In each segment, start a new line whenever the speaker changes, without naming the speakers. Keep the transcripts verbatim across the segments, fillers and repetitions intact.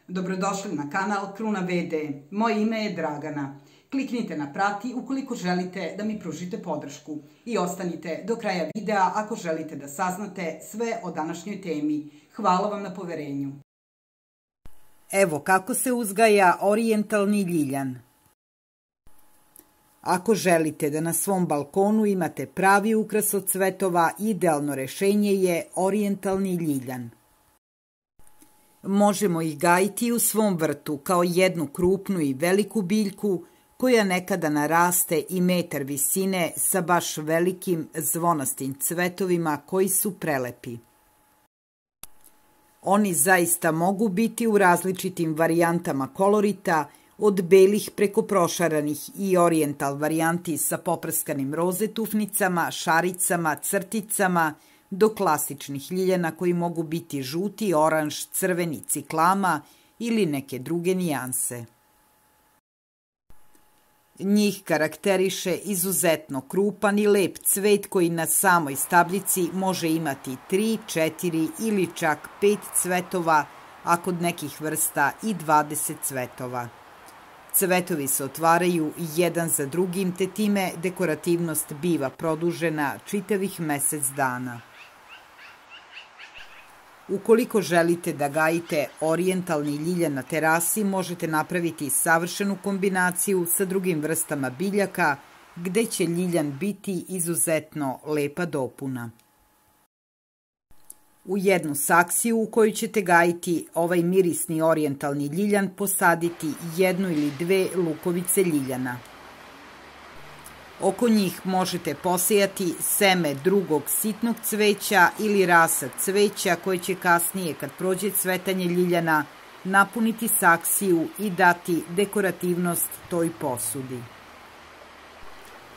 Dobrodošli na kanal Kruna V D. Moje ime je Dragana. Kliknite na prati ukoliko želite da mi pružite podršku i ostanite do kraja videa ako želite da saznate sve o današnjoj temi. Hvala vam na poverenju.
Evo kako se uzgaja orijentalni ljiljan. Ako želite da na svom balkonu imate pravi ukras od cvetova, idealno rešenje je orijentalni ljiljan. Možemo ih gajiti u svom vrtu kao jednu krupnu i veliku biljku koja nekada naraste i metar visine sa baš velikim zvonastim cvetovima koji su prelepi. Oni zaista mogu biti u različitim varijantama kolorita, od belih preko prošaranih i orijental varijanti sa poprskanim rozetufnicama, šaricama, crticama, do klasičnih ljiljana koji mogu biti žuti, oranž, crveni, ciklama ili neke druge nijanse. Njih karakteriše izuzetno krupan i lep cvet koji na samoj stabljici može imati tri, četiri ili čak pet cvetova, a kod nekih vrsta i dvadeset cvetova. Cvetovi se otvaraju jedan za drugim, te time dekorativnost biva produžena čitavih mesec dana. Ukoliko želite da gajite orijentalni ljiljan na terasi, možete napraviti savršenu kombinaciju sa drugim vrstama biljaka, gde će ljiljan biti izuzetno lepa dopuna. U jednu saksiju u kojoj ćete gajiti ovaj mirisni orijentalni ljiljan posaditi jednu ili dve lukovice ljiljana. Oko njih možete posejati seme drugog sitnog cveća ili rasad cveća koje će kasnije, kad prođe cvetanje ljiljana, napuniti saksiju i dati dekorativnost toj posudi.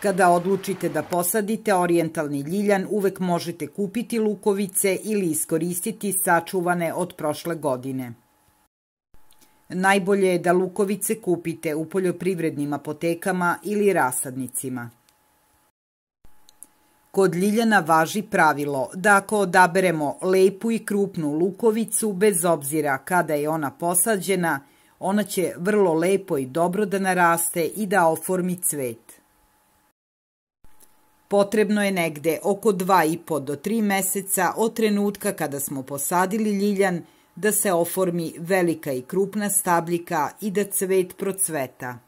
Kada odlučite da posadite orijentalni ljiljan, uvek možete kupiti lukovice ili iskoristiti sačuvane od prošle godine. Najbolje je da lukovice kupite u poljoprivrednim apotekama ili rasadnicima. Kod ljiljana važi pravilo da ako odaberemo lepu i krupnu lukovicu, bez obzira kada je ona posađena, ona će vrlo lepo i dobro da naraste i da oformi cvet. Potrebno je negde oko dva i po do tri meseca od trenutka kada smo posadili ljiljan da se oformi velika i krupna stabljika i da cvet procveta.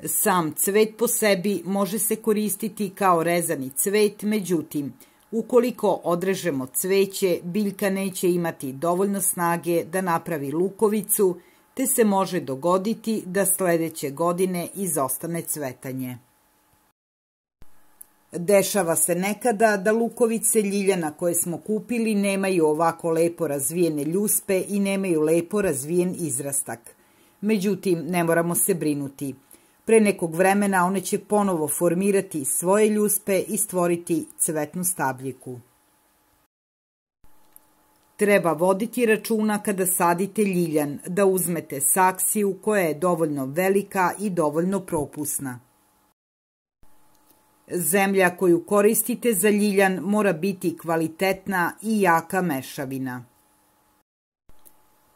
Sam cvet po sebi može se koristiti kao rezani cvet, međutim, ukoliko odrežemo cveće, biljka neće imati dovoljno snage da napravi lukovicu, te se može dogoditi da sledeće godine izostane cvetanje. Dešava se nekada da lukovice ljiljana koje smo kupili nemaju ovako lepo razvijene ljuspe i nemaju lepo razvijen izrastak. Međutim, ne moramo se brinuti. Pre nekog vremena one će ponovo formirati svoje ljuspe i stvoriti cvetnu stabljiku. Treba voditi računa kada sadite ljiljan da uzmete saksiju koja je dovoljno velika i dovoljno propusna. Zemlja koju koristite za ljiljan mora biti kvalitetna i jaka mešavina.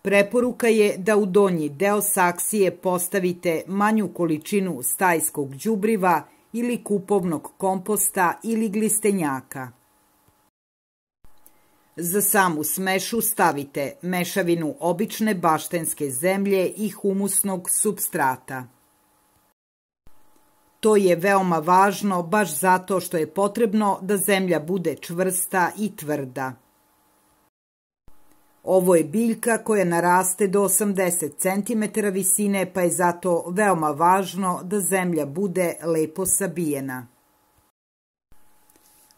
Preporuka je da u donji deo saksije postavite manju količinu stajskog đubriva ili kupovnog komposta ili glistenjaka. Za samu smešu stavite mešavinu obične baštenske zemlje i humusnog supstrata. To je veoma važno baš zato što je potrebno da zemlja bude čvrsta i tvrda. Ovo je biljka koja naraste do osamdeset centimetara visine, pa je zato veoma važno da zemlja bude lepo sabijena.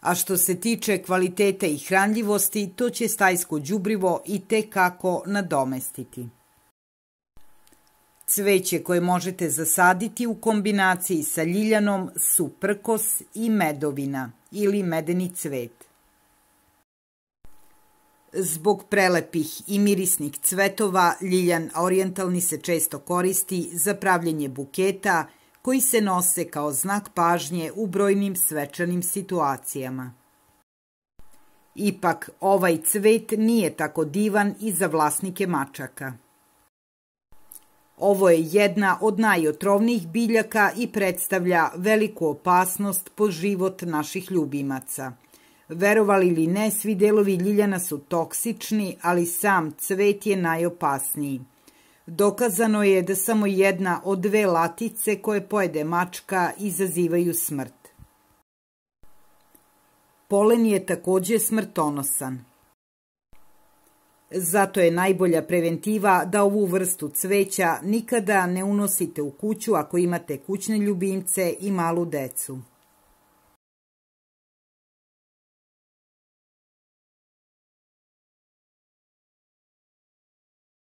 A što se tiče kvaliteta i hranljivosti, to će stajsko đubrivo i te kako nadomestiti. Cveće koje možete zasaditi u kombinaciji sa ljiljanom su prkos i medovina ili medeni cvet. Zbog prelepih i mirisnih cvetova, ljiljan orijentalni se često koristi za pravljenje buketa koji se nose kao znak pažnje u brojnim svečanim situacijama. Ipak, ovaj cvet nije tako divan i za vlasnike mačaka. Ovo je jedna od najotrovnijih biljaka i predstavlja veliku opasnost po život naših ljubimaca. Verovali ili ne, svi delovi ljiljana su toksični, ali sam cvet je najopasniji. Dokazano je da samo jedna od dve latice koje pojede mačka izazivaju smrt. Polen je takođe smrtonosan. Zato je najbolja preventiva da ovu vrstu cveća nikada ne unosite u kuću ako imate kućne ljubimce i malu decu.